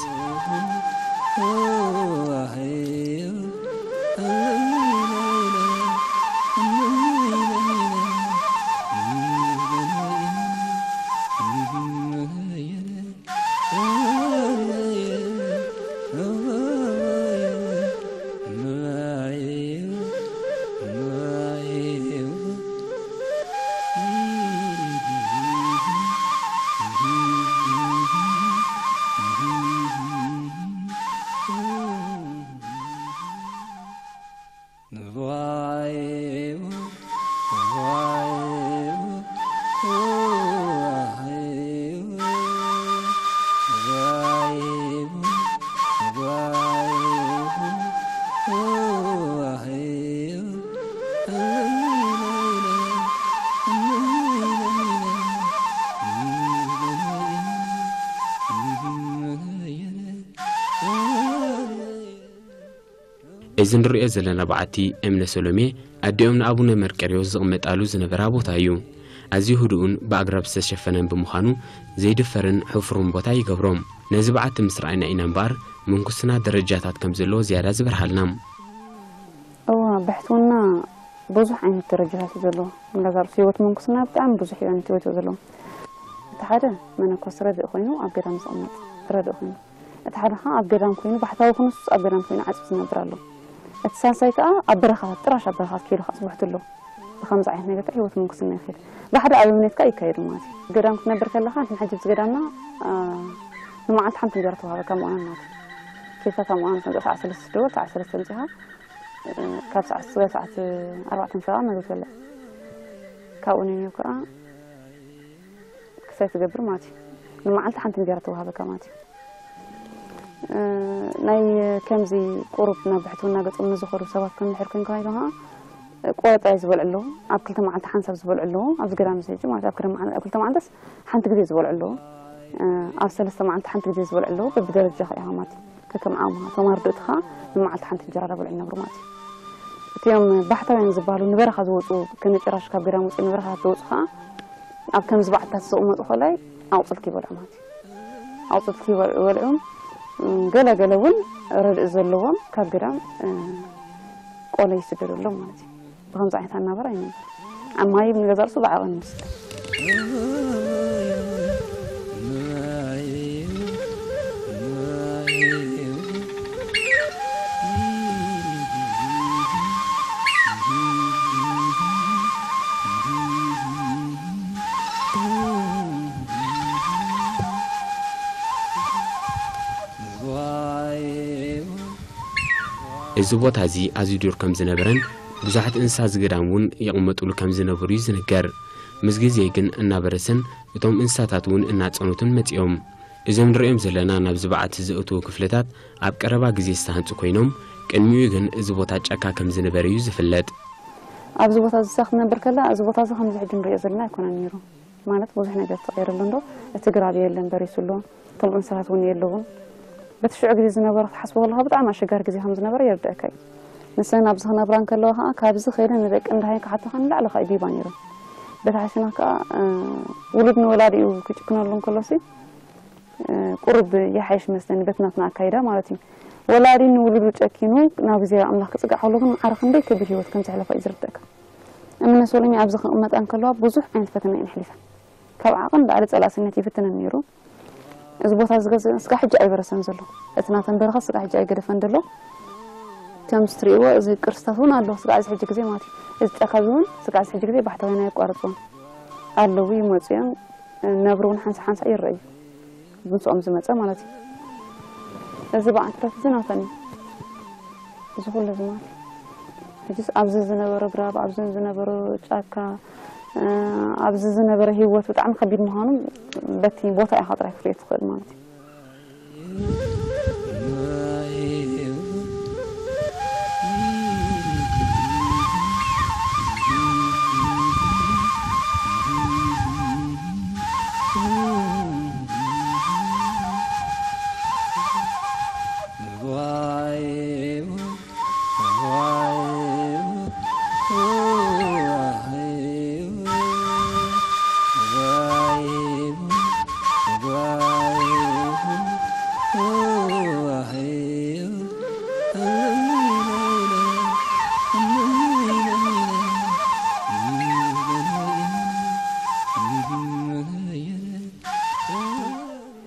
እዚ ንሪኦ ዘለና በዓቲ እምነ ሰሎሜ ኣዲኦም ንኣቡነ መርቀርዮስ ዝቕመጣሉ ዝነበራ ቦታ እዩ። ኣዝዩ ህዱእን ብኣግራብ ዝተሸፈነን ብምዃኑ ዘይድፈርን ሕፉርን ቦታ ይገብሮም። ነዚ በዓቲ ምስ ረኣይና ኢና እምበኣር ምንኩስና ደረጃታት ከም ዘለዎ ዝያዳ ዝበርሃልና። እዋ ብሕትውና ብዙሕ ዓይነት ደረጃታት እዩ ዘለዎ። ንገዛ ርእሱ ህይወት ምንኩስና ብጣዕሚ ብዙሕ እዩ ዓይነት ህይወት ዘለዎ። እቲ ሓደ መነኮስ ረድእ ኮይኑ ኣብ ገዳም ዝቕመጥ ረድእ ኮይኑ፣ እቲ ሓደ ከዓ ኣብ ገዳም ኮይኑ ባሕታዊ ኩኑስ ኣብ ገዳም ኮይኑ ዓፅቢ ዝነብር ኣሎ። እቲ ሳልሳይ ከዓ ኣብ በረኻታት ጥራሽ ኣብ በረኻታት ከይዱ ከዓ ዝብሕቱ ኣሎ። ብከምዚ ዓይነት ነገር ከዓ ህይወት ምንኩስና ይኸይድ። ብሓደ ኣብ እምነት ከዓ ይካየዱ ማለት እዩ። ገዳም ክትነብር ከለካ ንሕና ሕጂ ኣብዚ ገዳምና ንመዓልቲ ሓንቲ እንጀራ ተዋሃበካ ምቋና ማለት እዩ። ኬድካ ካብ ምቋና ተምፅእ ሰዓት ሰለስተ ደወል ሰዓት ሰለስተ ተምፂኻ ካብ ሰዓት ስጋብ ሰዓት ኣርባዕተ ምሳኻ መግቢ ትበልዕ። ካብኡ ንንዮ ከዓ ክሳይ ትገብር ማለት እዩ። ንመዓልቲ ሓንቲ እንጀራ ተዋሃበካ ማለት እዩ። ናይ ከምዚ ቁሩብ ናብ ብሕትውና ገጾም ንዝኸዱ ሰባት ከም ድሕር ኮይንካ ኢሉ ከዓ ቆረጣ ዝበልዑ ኣለዉ። ኣብ ክልተ መዓልቲ ሓንሳብ ዝበልዑ ኣለዉ። ኣብዚ ገዳም እዚ ሕጂ ማለት ኣብ ክልተ መዓል- ኣብ ክልተ መዓልትስ ሓንቲ ግዜ ዝበልዑ ኣለዉ። ኣብ ሰለስተ መዓልቲ ሓንቲ ግዜ ዝበልዑ ኣለዉ። በብደረጃ ኢኻ ማለት እዩ። ከከም ዓቕምኻ እቶም ኣርድእትኻ ንመዓልቲ ሓንቲ እንጀራ ዳበልዑ ይነብሩ ማለት እዩ። እቲኦም ባሕታውያን ዝበሃሉ ንበረኻ ዝወፁ ከነጭራሽ ካብ ገዳም ወፂኦም ንበረኻ ዝወፁ ከዓ ኣብ ከምዚ በዓትታት ዝቕመጡ ከላይ ኣቑፅልቲ ይበልዑ ማለት እዩ። ኣቑፅልቲ ይበልዑ በልዑ ገለ ገለ እውን ረድእ ዘለዎም ካብ ገዳም ቆሎ ይስደደሎም ማለት እዩ። ብከምዚ ዓይነት ኣናበራ ይነብር። ኣብ ማይ ንገዛ ርእሱ ብዓቐን ይወስድ። እዚ ቦታ እዚ ኣዝዩ ዱር ከም ዝነበረን ብዙሓት እንስሳ ዝገዳም እውን ይቕመጡሉ ከም ዝነበሩ እዩ ዝንገር። ምስ ግዜ ግን እናበረሰን እቶም እንስሳታት እውን እናጸኑትን መጺኦም። እዞም ንሪኦም ዘለና ናብዚ በዓቲ ዘእትዉ ክፍልታት ኣብ ቀረባ ግዜ ዝተሃንጹ ኮይኖም፣ ቅድሚኡ ግን እዚ ቦታ ጫካ ከም ዝነበረ እዩ ዝፍለጥ። ኣብዚ ቦታ እዚ ክትነብር ከላ እዚ ቦታ እዚ ከምዚ ሕጂ ንሪኦ ዘለና ኣይኮነን ነይሩ። ማለት ብዙሕ ነገር ተቐይሩ ኣሎ እንዶ እቲ ግራብ የለን በሪሱ ኣሎ። እቶም እንስሳታት እውን የለውን። በቲ ሽዑ ግዜ ዝነበረ ክትሓስቦ ከለኻ ብጣዕሚ ኣሸጋሪ ግዜ ከም ዝነበረ የርድአካ እዩ። ንሰን ኣብዚ ክነብራ እንከለዋ ከዓ ካብዚ ከይደ ንደቂ እንዳሃይ ክሓተኻ ንላዕሊ ከዓ ይዲባ ነይሩ። በቲ ሓሲና ከዓ ውሉድ ንወላዲኡ ክጭክነሉ እንከሎሲ ቁሩብ ይሓይሽ መስለኒ በቲ ናትና ኣካይዳ ማለት እዩ። ወላዲ ንውሉዱ ጨኪኑ ናብ እግዚኣብሔር ኣምላኽ ክጽጋዕ ከሎ ግን ማዕረ ክንደይ ከቢድ ህይወት ከም ዘሕለፋ እዩ ዝርደካ። እምነ ሶሎሜ ኣብዚ ክቕመጣ እንከለዋ ብዙሕ ዓይነት ፈተና እየን ኣሕሊፈን። ካብ ዓቐን ላዕሊ ጸላእስነት ይፍትነን ነይሩ። እዚ ቦታ ዝገዝእ ስጋ ሕጂ ኣይበረሰን ዘሎ። እቲ ናተን በረኻ ስጋ ሕጂ ኣይገደፈን ዘሎ። ከምዚ ትርእይዎ እዚ ቅርስታት እውን ኣሎ። ስጋ እዚ ሕጂ ግዜ ማለት እዩ። እዚ ጫካ እዚ እውን ስጋ እዚ ሕጂ ግዜ ባሕታውያን ኣየቋርፅዎን ኣለዉ ይመፁ እዮም። ነብሪ እውን ሓንሳ ሓንሳ ይረኣዩ። ምስኦም ዝመፀ ማለት እዩ። እዚ በዓልታት እዚ ናተን እዩ። እዚ ኩሉ እዚ ማለት እዩ። ሕጂስ ኣብዚ ዝነበረ ግራብ፣ ኣብዚ ዝነበረ ጫካ፣ ኣብዚ ዝነበረ ህይወት ብጣዕሚ ከቢድ ምዃኑ በቲ ቦታ ኢኻ ጥራይ ክትሪኦ ትኽእል ማለት እዩ።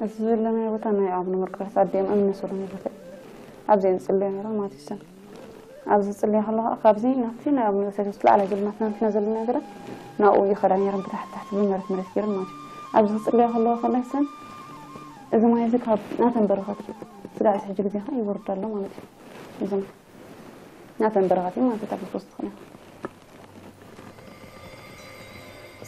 እዚ ዘለናዮ ቦታ ናይ ኣቡነ መርቆሬዎስ ኣዲኦም እምኒ ሰሎሜ ቦታ እዩ። ኣብዚ እየን ዝጽልያ ነይረን ማለት እዩ። እሰን ኣብዚ ዝጽልያ ከለዋ ካብዚ ናብቲ ናይ ኣቡነ ዮሴፍ ላዕላይ ዘሎ ናትና ንሕና ዘለና ገረብ ናብኡ ይኸዳ ነይረን ብታሕቲ ታሕቲ ብመሬት መሬት ገይረን ማለት እዩ። ኣብዚ ክጽልያ ከለዋ ከላይ እሰን እዚ ማይ እዚ ካብ ናተን በረኸት እዩ። ስጋዕ እዚ ሕጂ ግዜ ኸዓ ይወርድ ኣሎ ማለት እዩ። እዚ ማይ ናተን በረኸት እዩ ማለት እዩ። ታሪኽ ውስጥ ኾነ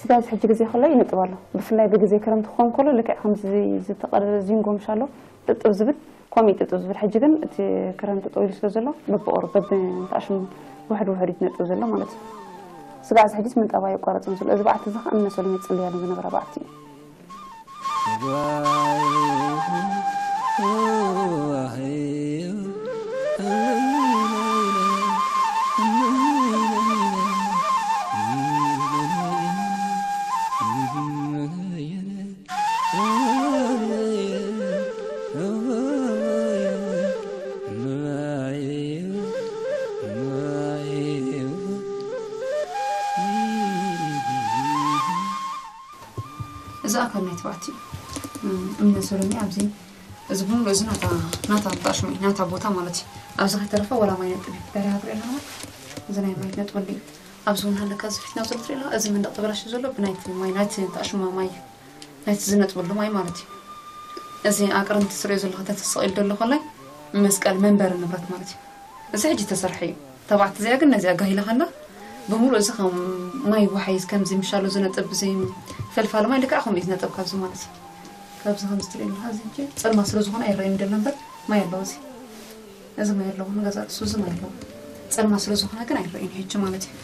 ስጋብ ሕጂ ግዜ ከሎ ይንጥብ ኣሎ። ብፍላይ ብግዜ ክረምቲ ክኸውን ከሎ ልክዕ ከምዚ ዝተቐደደ ዚንጎ ምሽ ኣሎ ጥጥብ ዝብል ከምኡ እዩ ጥጥብ ዝብል። ሕጂ ግን እቲ ክረምቲ ጠዊሉ ስለ ዘሎ በብቑሩብ በብንትኣሽሙ ውሕድ ውሕድ እዩ ዝነጥብ ዘሎ ማለት እዩ። ስጋዕ እዚ ሕጂስ ምንጣብ ኣየቋረፅን ዘሎ። እዚ በዓቲ እዚ ከዓ እምነ ሰሎሜ ዝፅልያሉ ዝነበራ በዓቲ እዩ። እዚ ኣካል ናይ ትባዕቲ እዩ። እም፣ እምነ ሰሎሚ ኣብዚ፣ እዚ ብምሉእ እዚ ናታ፣ ናታ ኣጣሽሙ እዩ፣ ናታ ቦታ ማለት እዩ። ኣብዚ ከይተረፈ ወላ ማይ ነጥብ እዩ። ዳርያ ትሪኦ ኣለኹም። እዚ ናይ ማይ ነጥበሉ እዩ። ኣብዚ እውን ሃለካ እዚ ፊትና ዘሎ ትሪኦ ኣለኻ። እዚ መንደቕ ተበላሽዩ ዘሎ ብናይቲ ማይ፣ ናይቲ ተኣሽማ ማይ እዩ። ናይቲ ዝነጥበሉ ማይ ማለት እዩ። እዚ ኣቅርንቲ ትሪኦ ዘለኹ ተተሰቒሉ ዘሎ ኮላይ መስቀል መንበሪ ንብረት ማለት እዩ። እዚ ሕጂ ተሰርሐ እዩ። ተባዕቲ እዚኣ ግን ነዚኣ ጋሂላ ከላ ብምሉእ እዚ ከም ማይ ወሓይዝ ከምዚ ምሻሎ ዝነጥብ እዚ ፈልፋሊ ማይ ልክዕ ከምኡ እዩ ዝነጥብ ካብዚ ማለት እዩ። ካብዚ ከምዚ ትሪኦ ኣለኻ እዚ ሕጂ ጸልማ ስለ ዝኾነ ኣይረኣይን ደሎ እምበር ማይ ኣለዎ እዚ። እዚ ማይ ኣለዎ ንገዛ ርእሱ እዚ ማይ ኣለዎ። ጸልማ ስለ ዝኾነ ግን ኣይረኣይን ሕጂ ማለት እዩ።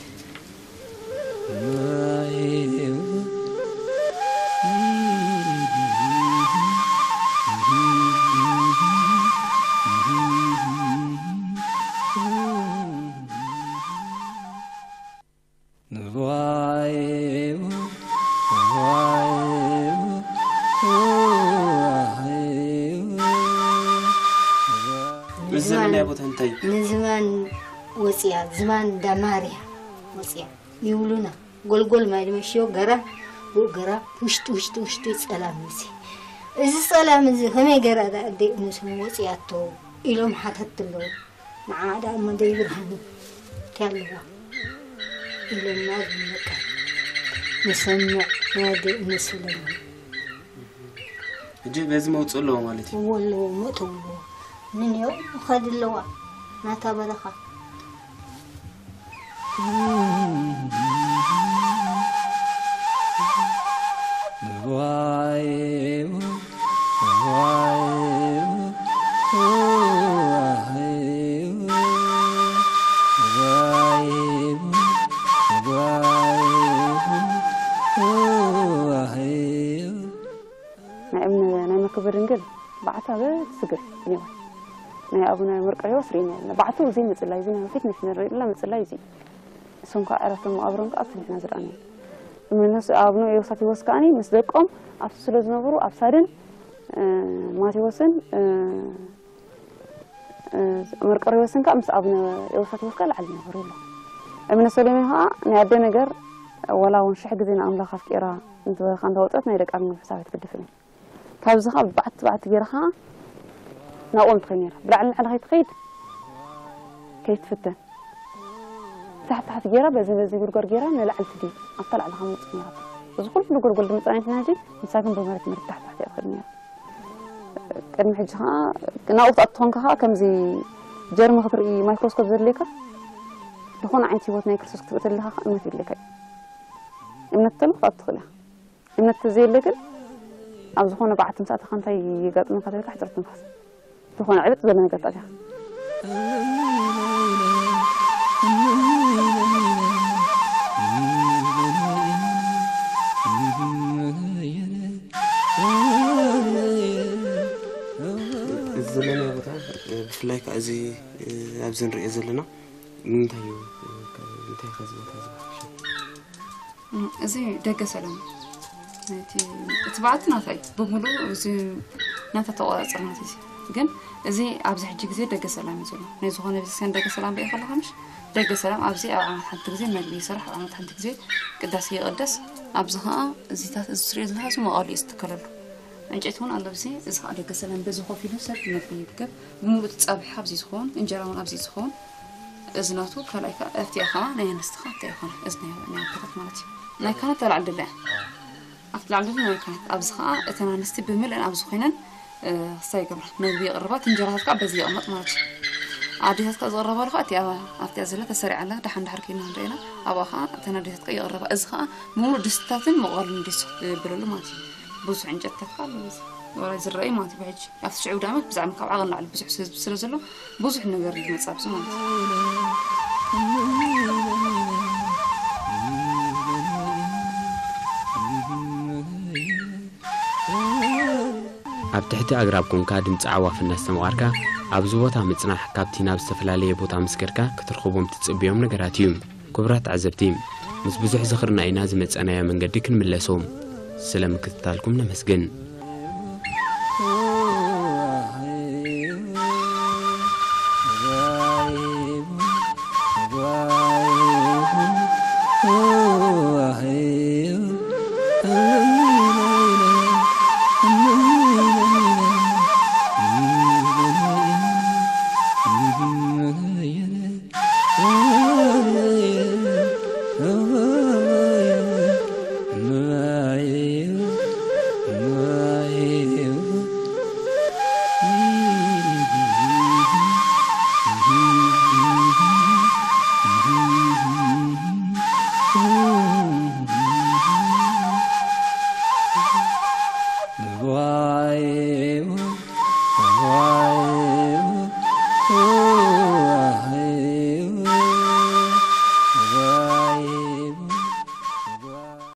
እዚ ዘለናዮ ቦታ እንታይ እዩ? ንዝማን ወፅያ፣ ዝማን ዳማርያ ወፅያ ይብሉና። ጎልጎል ማይ ድመሽዮ ገራ፣ ብኡ ገራ፣ ውሽጢ፣ ውሽጢ፣ ውሽጢ ጸላም እዚ። እዚ ጸላም እዚ ከመይ ገራ ደኣ ኣደይ እነስም ወፅያቶ ኢሎም ሓተት ኣለዉ። ንዓ ደኣ እሞ ደይ ብርሃኑ እንታይ ኣለዋ ኢሎምና፣ ዝመቀ ንሰምዕ ናይ ኣደይ እነስለና። ሕጂ በዚ መውፅእ ኣለዎ ማለት እዩ። እዎ ኣለዎ፣ መእተው ኣለዎ። ምን ያው ምኻድ ኣለዋ ናታ በረኻ። ናይ እምነ ናይ መክብር ድንግል በዓታ በስግር እኒዋ። ናይ ኣቡነ መርቆሬዎስ ርኢና የለና። በዓቱ እዚ ምጽላይ፣ እዚ ናይ ፊት ንፊት ንርኢ ዘለና ምጽላይ እዚ። እሶም ከዓ ዕረፍቶም መቓብሮም ከዓ ኣብቲ ንሕና ዝረኣናዮ። እምነ ኣቡነ ዮሳቲዎስ ከዓኒ ምስ ደቆም ኣብቲ ስለ ዝነበሩ ኣብ ሳድን፣ እ፣ ማቴዎስን፣ እ፣ እ፣ መርቆሬዎስን ከዓ ምስ ኣቡነ ዮሳቲዎስ ከዓ ላዕሊ ነበሩ ይብሉ። እምነ ሰሎሜ ከዓ ናይ ኣደ ነገር ዋላ እውን ሽሕ ግዜ ንኣምላኽ ኣፍቂራ እንተበልካ እንተወፀት ናይ ደቂ ኣርባዕተ ሕሳብ ኣይትግድፍን እያ። ካብዚ ኸዓ ብዓቲ ብዓቲ ገይራ ኸዓ ናብኦም ትኸይድ ነይራ። ብላዕሊ ንላዕሊ ከይትኸይድ ከይትፍተን። ታሕቲ ታሕቲ ገይራ በዚ በዚ ጉድጓድ ገይራ ንላዕሊ ትድይብ። ኣብታ ላዕሊ ኸዓ ምውፅእ ነይራ። እዚ ኩሉ ጎልጎል ድምፃ ናይቲ ናዚ ንሳ ግን ብመሬት መሬት ታሕቲ ታሕቲ እያ ትኸይድ ነይራ። ቅድሚ ሕጂ ኸዓ ናብኡ ክትኣቱ ኾንካ ኸዓ ከምዚ ጀርሚ ክትርኢ ማይክሮስኮፕ ዘድልየካ ዝኾነ ዓይነት ህይወት ናይ ክርስቶስ ክትርኢ ተለኻ ኸዓ እምነት የድልየካ እዩ። እምነት ተሎ ክትኣቱ ትኽእል ኢኻ። እምነት ተዘየለ ግን ኣብ ዝኾነ በዓቲ ምስ ኣተኻ እንታይ የጋጥመካ ተልካ ሕጽረት ትንፋስ። ዝኾነ ዕብጥ ዘሎ ነገር ተኣቲኻ። እዚ ዘለናዮ ቦታ፣ ብፍላይ ከዓ እዚ ኣብዚ ንሪኦ ዘለና ንምንታይ እዩ፣ እንታይ ከ እዚ ቦታ እዚ? እም፣ እዚ ደገ ሰላም እዩ። እቲ፣ እቲ በዓቲ ናታ እዩ። ብምሉእ እዚ ናታ ተቆጻጸር ናታ እዩ። ግን እዚ ኣብዚ ሕጂ ግዜ ደገ ሰላም እዩ ዘሎ። ናይ ዝኾነ ቤተክርስትያን ደገ ሰላም ርኢኻ ኣለኻ ምሽ? ደገ ሰላም ኣብዚ ኣብ ዓመት ሓንቲ ግዜ መግቢ ይስራሕ፣ ኣብ ዓመት ሓንቲ ግዜ ቅዳሴ ይቕደስ። ኣብዚ ኸኣ እዚታት፣ እዚ ትሪኦ ዘለኻ እዚ መቓሉ እዩ ዝትከለሉ። ዕንጨይቲ እውን ኣሎ ኣብዚ። እዚ ኸኣ ደገ ሰላም በዚ ኮፍ ኢሉ ሰብ መግቢ ይምገብ። ብምሉእ እቲ ጻብሒ ኣብዚ ዝኸውን፣ እንጀራ እውን ኣብዚ ዝኸውን። እዚ ናቱ ካልኣይ ከኣ፣ ኣብቲኣ ከኣ ናይ ኣንስቲ ከኣ ኣብቲኣ ይኾና። እዚ ናይ፣ ናይ ኣቦታት ማለት እዩ። ናይ ካህናት ኣብ ላዕሊ ደላ እያ። ኣብቲ ላዕሊ ደላ ናይ ካህናት። ኣብዚ ከኣ እተን ኣንስቲ ብምልእን ኣብዚ ኮይነን፣ እ፣ ክስታይ ይገብራ። መግቢ የቕርባ፣ እቲ እንጀራታት ከኣ በዚ ይቕመጥ ማለት እዩ። ኣዴታት ከኣ ዝቕረባሉ ከኣ እቲኣ፣ ኣብቲኣ ዘላ ተሰሪዓ ኣላ። ደሓን ደሓር ከይና ንርእየና፣ ኣብኣ ከኣ እተን ኣዴታት ከኣ ይቕረባ። እዚ ከኣ ብምሉእ ድስትታትን መቑረልን ድስቲ ይብለሉ ማለት እዩ። ብዙሕ ዕንጨትታት ከኣ ኣለዎ እዚ። ወላ ዝረኣዩ ማለት እዩ ብሕጂ። ኣብቲ ሽዑ ዳመት ብዛዕባ ካብ ዓቐን ላዕሊ ብዙሕ ህዝቢ ስለ ዘሎ፣ ብዙሕ ነገር እዩ ዝመጽእ ኣብዚ ማለት እዩ። ኣብ ትሕቲ ኣግራብ ኮንካ ድምፂ ኣዕዋፍ እናስተማቐርካ ኣብዚ ቦታ ምፅናሕ ካብቲ ናብ ዝተፈላለየ ቦታ ምስ ከድካ ክትረኽቦም ትፅበዮም ነገራት እዩ። ክቡራት ተዓዘብቲ፣ ምስ ብዙሕ ዝኽርና ኢና ዝመፀናዮ መንገዲ ክንምለሶ። ስለ ምክትታልኩም ነመስግን።